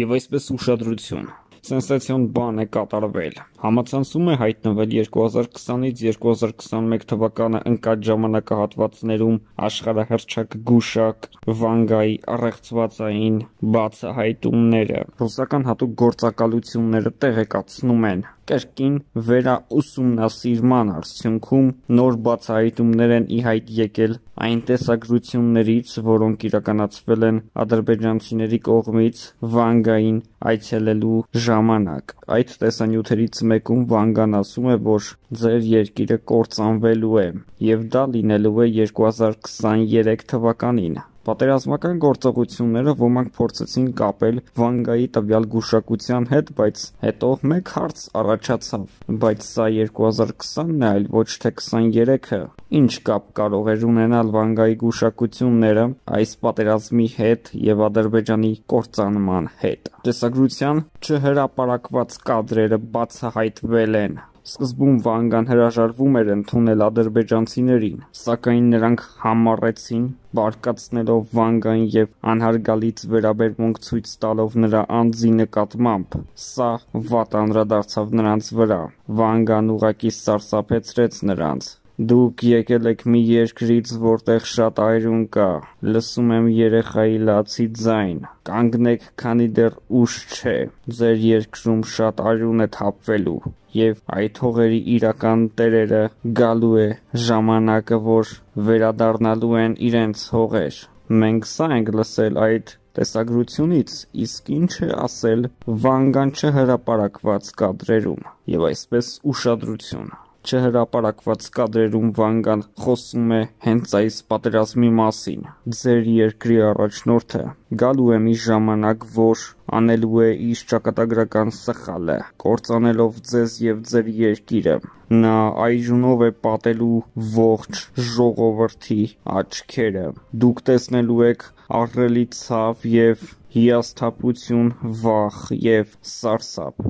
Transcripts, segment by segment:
եւ այսպես ուշադրություն։ Սենսացիոն բան է կատարվել։ Համացանցում է հայտնվել 2020-ից 2021 թվականը ընկած ժամանակահատվածներում աշխարհահռչակ գուշակ Վանգայի առեղծվածային բացահայտումները։ Ռուսական հատուկ գործակալությունները տեղեկացնում են, կրկին վերաուսումնասիրման արդյունքում նոր բացահայտումներ են ի հայտ եկել այն տեսագրություններից, որոնք իրականացվել են ադրբեջանցիների կողմից Վանգային այցելելու ժամանակ։ Այդ տեսանյութերից մեկում Վանգան ասում է, որ ձեր երկիրը կործանվելու է, եւ դա լինելու է 2023 թվականին։ Պատերազմական գործողությունները ոմանք փորձեցին կապել Վանգայի տվյալ գուշակության հետ, բայց հետո մեկ հարց առաջացավ. բայց սա 2020-ն է, այլ ոչ թե 23-ը։ Ինչ կապ կարող էր ունենալ Վանգայի գուշակությունները այս պատերազմի հետ եւ Ադրբեջանի կործանման հետ։ Տեսագրության չհրապարակված կադրերը բացահայտվել են։ Սկզբում Վանգան հրաժարվում էր ընդունել ադրբեջանցիներին, սակայն նրանք համառեցին, բարկացնելով Վանգային եւ անհարգալից վերաբերմունք ցույց տալով նրա անձի նկատմամբ։ Սա վատ անդրադարձավ նրանց վրա։ Վանգան ուղղակի սարսափեցրեց նրանց։ Դուք եկել եք մի երկրից, որտեղ շատ այրուն կա, լսում եմ երեխայի լացի ձայն, կանգնեք, քանի դեռ ուշ չէ, ձեր երկրում շատ այրուն է թափվելու, եւ այդ հողերի իրական տերերը գալու է ժամանակը, որ վերադառնալու են իրենց հողեր։ Մենք սա ենք լսել այդ տեսագրությունից, իսկ ինչ է ասել Վանգան չհրապարակված կադրերում, եւ այսպես ուշադրություն։ Չհրապարակված կադրերում Վանգան խոսում է հենց այս պատերազմի մասին։ Ձեր երկրի առաջնորդը գալու է մի ժամանակ, որ անելու է իր ճակատագրական սխալը, կործանելով ձեզ եւ ձեր երկիրը։ Նա այժունով է պատելու ողջ ժողովրդի աչքերը։ Դուք տեսնելու եք ահռելի ցավ եւ հիասթափություն, վախ եւ սարսափ։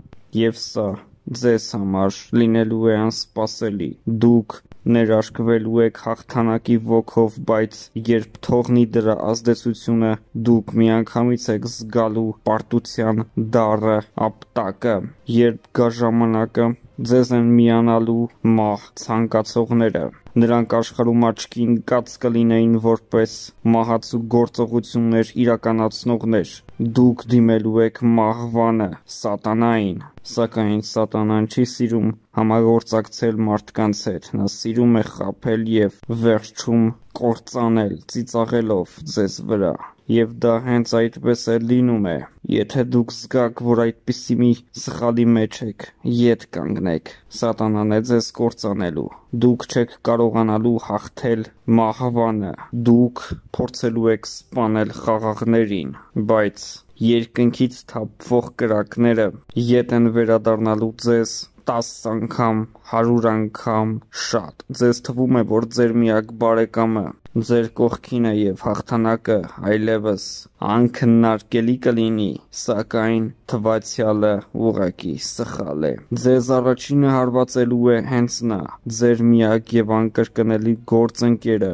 Եվ սա ձեզ համար լինելու է անսպասելի։ Դուք ներարկվելու եք հաղթանակի ոգով, բայց երբ թողնի դրա ազդեցությունը, դուք միանգամից եք զգալու պարտության դառը ապտակը։ Երբ գա ժամանակը, ձեզ են միանալու մահ ցանկացողները։ Նրանք աշխարհում աչքի ընկած կլինեին որպես մահացու գործողություններ իրականացնողներ։ Դուք դիմելու եք մահվանը, սատանային։ Սակայն սատանան չի սիրում համագործակցել մարդկանց հետ։ Նա սիրում է խաբել եւ վերջում կործանել, ծիծաղելով ձեզ վրա։ Եվ դա հենց այդպես է լինում է։ Եթե դուք զգաք, որ այդպիսի մի սխալի մեջ եք, ետ կանգնեք։ Սատանան է ձեզ կործանելու։ Դուք չեք կարողանալու հաղթել մահվանը։ Դուք փորձելու եք սպանել խաղաղներին, բայց երկնքից թափվող կրակները ետ են վերադառնալու ձեզ 10 անգամ, 100 անգամ շատ։ Ձեզ թվում է, որ ձեր միակ բարեկամը ձեր կողքին է եւ հաղթանակը այլևս անքննարկելի կլինի, սակայն թվացյալը ուղղակի սխալ է։ Ձեզ առաջինը հարվածելու է հենց նա, ձեր միակ եւ անկրկնելի գործընկերը,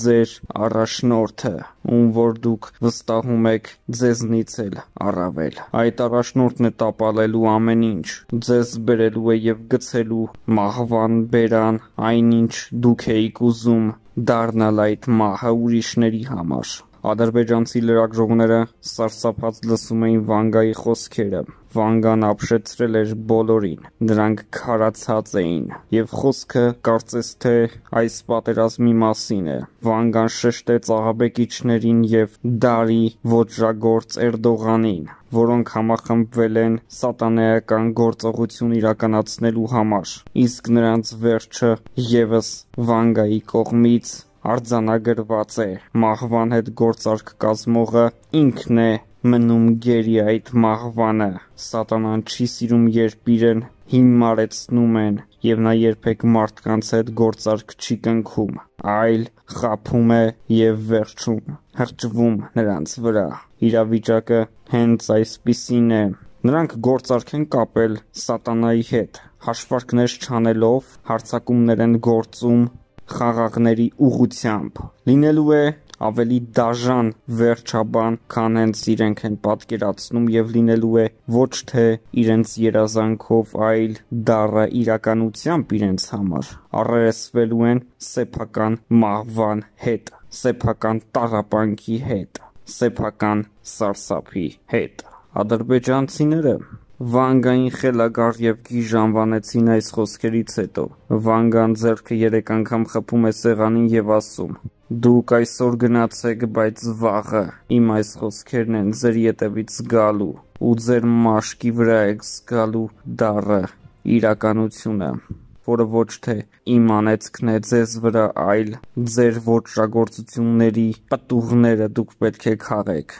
ձեր առաջնորդը, ում որ դուք վստահում եք ձեզնից էլ առավել։ Այդ առաջնորդն է տապալելու ամեն ինչ, ձեզ բերելու է եւ գցելու մահվան բերան, այնինչ դուք էիք ուզում դառնալ այդ մահը ուրիշների համար։ Ադրբեջանցի լրագրողները սարսափած լսում էին Վանգայի խոսքերը։ Վանգան ապշեցրել էր բոլորին։ Նրանք քարացած էին, եւ խոսքը կարծես թե այս պատերազմի մասին է։ Վանգան շեշտեց աղաբեկիչներին եւ դարի ոճրագործ Էրդողանին, որոնք համախմբվել են սատանայական գործողություն իրականացնելու համար, իսկ նրանց վերջը եւս Վանգայի կողմից արձանագրված է։ Մահվան հետ գործարք կազմողը ինքն է մնում գերի այդ մահվանը։ Սատանան չի սիրում, երբ իրեն հիմարեցնում են, եւ նա երբեք մարդկանց հետ գործարք չի կնքում, այլ խաբում է եւ վերջում հրճվում նրանց վրա։ Իրավիճակը հենց այսպիսին է։ Նրանք գործարք են կապել սատանայի հետ, հաշվարկներ չանելով հարձակումներ են գործում խաղաղների ուղղությամբ։ Լինելու է ավելի դաժան վերջաբան, քան հենց իրենք են պատկերացնում եւ լինելու է ոչ թե իրենց երազանքով, այլ դառը իրականությամբ իրենց համար, առերեսվելու են սեփական մահվան հետ, սեփական տառապանքի հետ, սեփական սարսափի հետ։ Ադրբեջանցիները Վանգային խելագար եւ գիժ անվանեցին այս խոսքերից հետո։ Վանգան ձեռքը 3 անգամ խփում է սեղանին եւ ասում. «Դուք այսօր գնացեք, բայց վաղը իմ այս խոսքերն են ձեր ետևից գալու ու ձեր մաշկի վրա եք զգալու դառը իրականությունը, որը ոչ թե իմ անեծքն է ձեզ վրա, այլ ձեր ոճրագործությունների պտուղները դուք պետք է քաղեք»։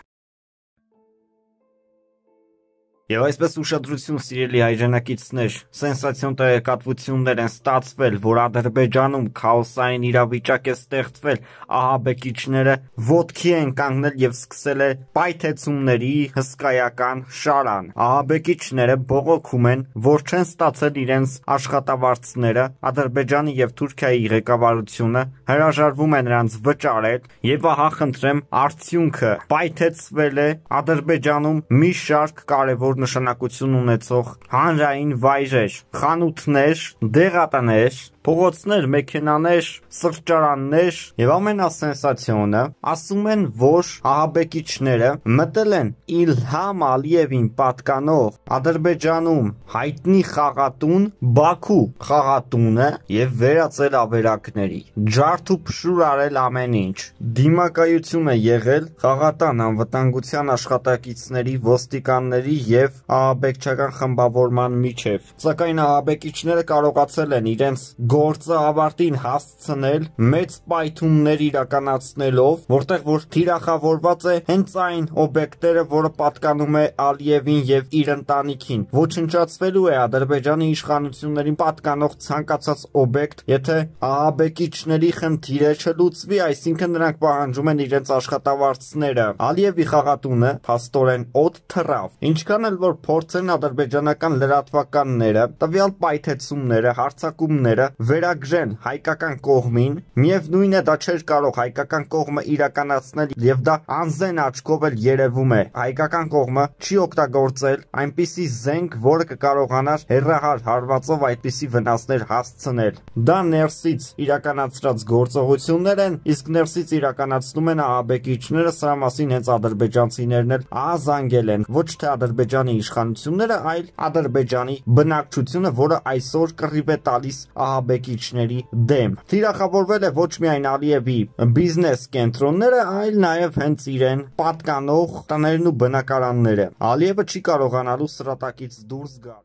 Եվ այսպես ուշադրություն, սիրելի հայրենակիցներ, սենսացիոն տեղեկատվություններ են ստացվել, որ Ադրբեջանում քաոսային իրավիճակ է ստեղծվել, ահաբեկիչները ոտքի են կանգնել եւ սկսել է պայթեցումների հսկայական շարան։ Ահաբեկիչները բողոքում են, որ չեն ստացել իրենց աշխատավարձները, Ադրբեջանի եւ Թուրքիայի ղեկավարությունը հրաժարվում է նրանց վճարել, եւ ահա խնդրեմ, արդյունքը պայթեցվել է Ադրբեջանում մի շարք կարևոր նշանակություն ունեցող հանրային վայրեր, խանութներ, դեղատներ, փողոցներ, մեքենաներ, սրճարաններ եւ ամենասենսացիոնը ասում են, որ ահաբեկիչները մտել են Իլհամ Ալիևին պատկանող Ադրբեջանում հայտնի խաղատուն Բաքու խաղատունը եւ վերածել ավերակների, ջարդ ու փշուր արել ամեն ինչ։ Դիմակայություն է եղել խաղատան անվտանգության աշխատակիցների, ոստիկանների եւ ահաբեկչական խմբավորման միջև, սակայն ահաբեկիչները կարողացել են իրենց գործը ավարտին հասցնել մեծ պայթուններ իրականացնելով, որտեղ որ թիրախավորված է հենց այն օբյեկտերը, որը պատկանում է Ալիևին եւ իր ընտանիքին։ Ոչնչացվելու է Ադրբեջանի իշխանություններին պատկանող ցանկացած օբյեկտ, եթե ահաբեկիչների խնդիրը չլուծվի, այսինքն նրանք պահանջում են իրենց աշխատավարձները։ Ալիևի խաղատունը փաստորեն օդ թռավ, ինչքան էլ որ փորձեն ադրբեջանական լրատվականները տվյալ պայթեցումները, հարձակումները վերագրեն հայկական կողմին, միևնույն է դա չէր կարող հայկական կողմը իրականացնել եւ դա անզեն աչքով էլ երևում է։ Հայկական կողմը չի օգտագործել այնպիսի զենք, որը կկարողանար հեռահար հարվածով այդպիսի վնասներ հասցնել։ Դա ներսից իրականացրած գործողություններ են, իսկ ներսից իրականացնում են ահաբեկիչները, սրա մասին հենց ադրբեջանցիներն էլ ահազանգել են, ոչ թե Ադրբեջանի իշխանությունները, այլ Ադրբեջանի բնակչությունը, որը այսօր կռիվ է տալիս ահաբեկիչների դեմ։ Թիրախավորվել է ոչ միայն Ալիևի բիզնես կենտրոնները, այլ նաև հենց իրեն պատկանող տներն ու բնակարանները։ Ալիևը չի կարողանալու սրատակից դուրս գալ։